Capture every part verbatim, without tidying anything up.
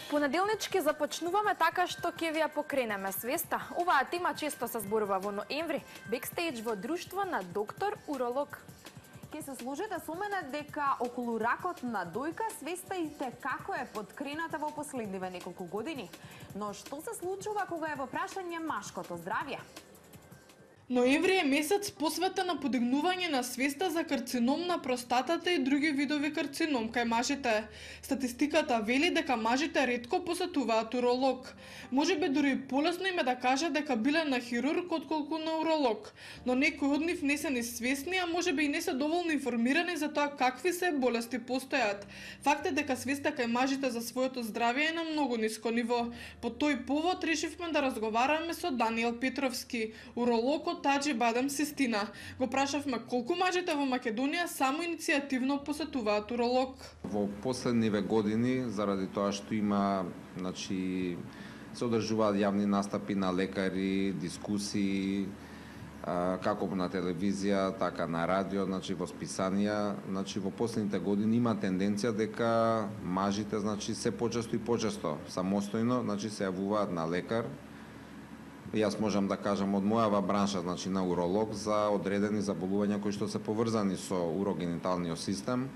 Понеделнички започнуваме така што ќе ви ја покренеме свеста. Оваа тема често се зборува во ноември, бекстејдж во друштво на доктор уролог. Ке се сложите со мене дека околу ракот на дојка свеста и те како е подкрената во последниве неколку години. Но што се случува кога е во прашање машкото здравје? Ноември е месец посветен на подигнување на свеста за карцином на простатата и други видови карцином кај мажите. Статистиката вели дека мажите ретко посетуваат уролог. Можеби дури полесно им е да кажат дека биле на хирург отколку на уролог, но некои од нив не се ни свесни, а можеби и не се доволно информирани за тоа какви се болести постојат. Факт е дека свеста кај мажите за своето здравје е на многу ниско ниво. По тој повод решивме да разговараме со Даниел Петровски, уролог од Таџи Бадам Систина. Го прашавме колку мажите во Македонија само иницијативно посетуваат уролог. Во последниве години, заради тоа што има, значи, се одржуваат јавни настапи на лекари, дискусии, како на телевизија, така на радио, значи во списанија, значи во последните години има тенденција дека мажите, значи, се почесто и почесто самостојно, значи се јавуваат на лекар. Јас можам да кажам од мојава бранша, значи на уролог, за одредени заболувања кои што се поврзани со урогениталниот систем.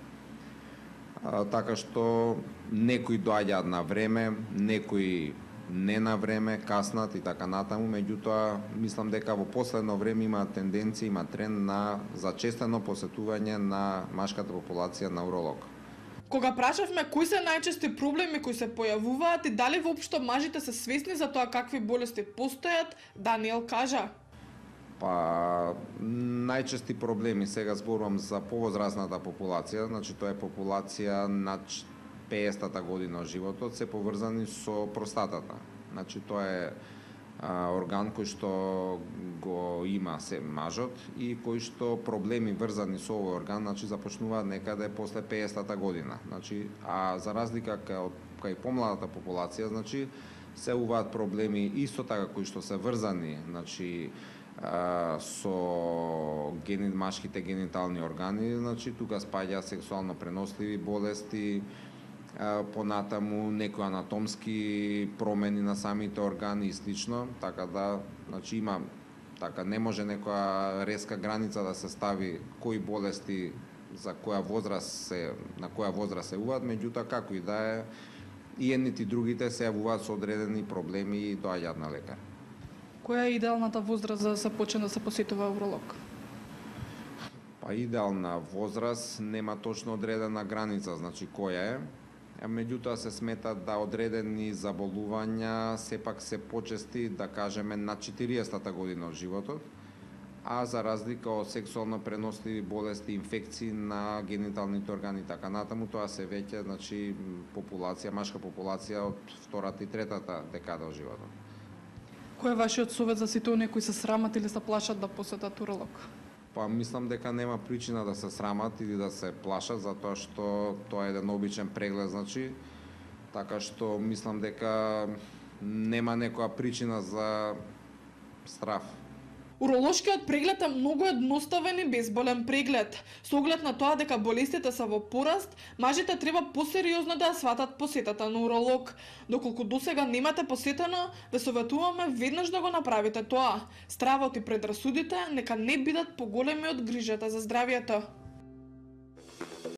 А, така што некои доаѓаат на време, некои не на време, каснат и така натаму, меѓутоа мислам дека во последно време има тенденција, има тренд на зачестено посетување на машката популација на уролог. Кога прашавме кои се најчести проблеми кои се појавуваат и дали воопшто мажите се свесни за тоа какви болести постојат, Даниел кажа: Па, најчести проблеми, сега зборувам за повозрасната популација, значи тоа е популација над пеесетта година од животот, се поврзани со простатата. Значи тоа е а, орган кој што го има се мажот и кој што проблеми врзани со овој орган, значи започнуваат некаде после пеесетта година. Значи, а за разлика кај кај помладата популација, значи се уваат проблеми исто така кои што се врзани, значи а, со гени, машките генитални органи, значи тука спаѓа сексуално преносливи болести, понатаму некои анатомски промени на самите органи и слично, така да, значи има, така не може некоја резка граница да се стави кои болести за која возраст се, на која возраст се јавуваат, меѓутоа како и да е, и едните и другите се јавуваат со одредени проблеми и доаѓаат на лекар. Која е идеалната возраст за да се почне да се посетува уролог? Па идеална возраст нема точно одредена граница, значи која е. Меѓутоа се смета да одредени заболувања сепак се почести, да кажеме, на четириесетта година од животот, а за разлика од сексуално преносливи болести, инфекции на гениталните органи и така натаму, тоа се веќе, значи, популација, машка популација од втората и третата декада од животот. Кој е вашиот совет за сите оние кои се срамат или се плашат да посетат уролог? Па мислам дека нема причина да се срамат или да се плашат, затоа што тоа е еден обичен преглед, значи, така што мислам дека нема некоја причина за страф. Уролошкиот преглед е многу едноставен и безболен преглед. Со оглед на тоа дека болестите се во пораст, мажите треба посериозно да ја сватат посетата на уролог. Доколку досега немате посетено, ве советуваме веднаш да го направите тоа. Стравот и предрасудите нека не бидат поголеми од грижата за здравјето.